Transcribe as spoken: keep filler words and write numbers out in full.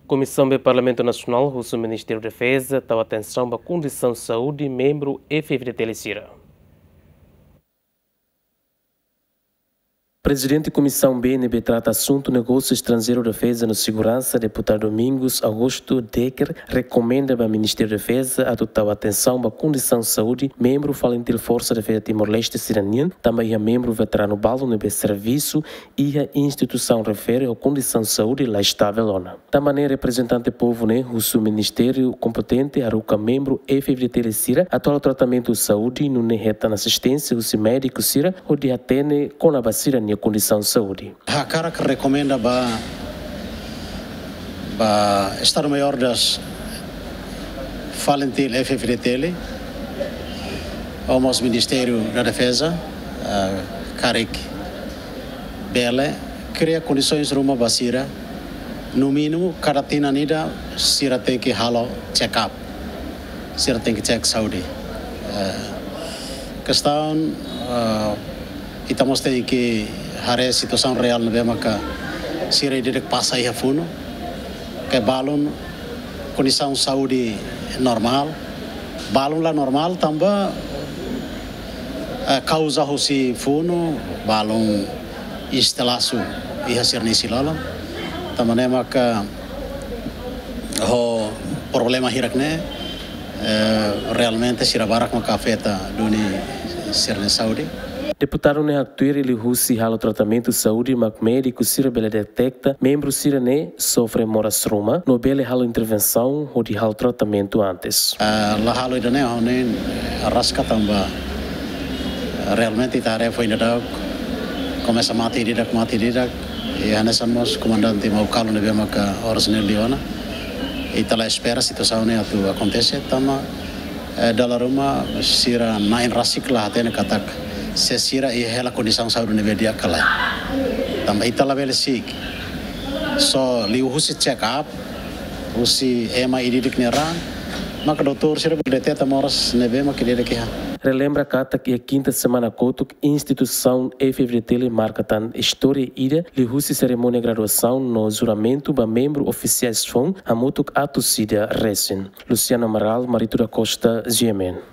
Komisaun B Parlamentu Nasionál husu Ministériu Defeza tau atensaun ba kondisaun saúde membru F-FDTL sira. Prezidente Komisaun B ne'ebé trata asuntu negósiu estranjeiru, defeza no seguransa, deputadu Domingos Augusto Decker, rekomenda ba Ministériu Defeza atu tau atensaun ba kondisaun saúde membru FALINTIL Forsa Defeza Timor-Leste sira-nian, tanba iha membru veteranu balu ne'ebé servisu iha instituisaun refere ho kondisaun saúde la estável ona. Tanba ne'e reprezentante povu ne'e husu ministériu kompetente haruka membru F-FDTL sira atu halo tratamentu saúde nune'e hetan asisténsia husi médiku sira hodi hatene kona-ba sira-nia kondisaun saúde. Hakarak rekomenda ba, ba Estadu Maiór das FALINTIL F-FDTL, ou mós Ministériu da Defeza, ah, karik bele kria kondisoens ruma ba sira, no mínimu, kada tinan ida sira tenke halo check up, sira tenke check saúde. Eh, kestaun, eh, ita mós tenke haree situasaun reál ne'ebé maka sira ida-idak pasa iha funu, ke balun kondisaun saúde normál, balun la normál tanba, eh, kauza husi funu, balun instalasaun iha sira-nia isin-lolon. Tanba ne'e maka ho problema hirak ne'e, eh, realmente sira barak maka afeta duni sira-nia saúde. Deputadu ne'e haktuir liuhusi halo tratamentu saúde mak médiku sira bele deteta membru sira-ne'e sofre moras ruma no bele halo intervensaun hodi halo tratamentu antes. Ah, la halo ida-ne'e ho nein, eh, araska tanba, eh, realmente ita haree foin daudauk komesa mate ida-idak, mate ida-idak. I hanesan mós komandante Maukalu ne'ebé maka oras ne'e liu ona. Ita la espera situasaun ne'e atu akontese, tanba, eh, dala ruma sira na'in rasik la hatene katak se sira iha hela kondisaun saúde ne'ebé di'ak ka lae. Tanba ita labele si'ik. Só liuhusi check up, husi ema ida-idak nia raan, maka doutór sira bele deteta moras ne'ebé maka ida-idak iha. Relembra katak iha kinta semana kotuk instituisaun F-FDTL marka tan istória ida liuhusi serimónia graduasaun no juramentu ba membru ofisiais foun hamutuk atus ida resin. Luciano Amaral, Marito da Costa, G M N.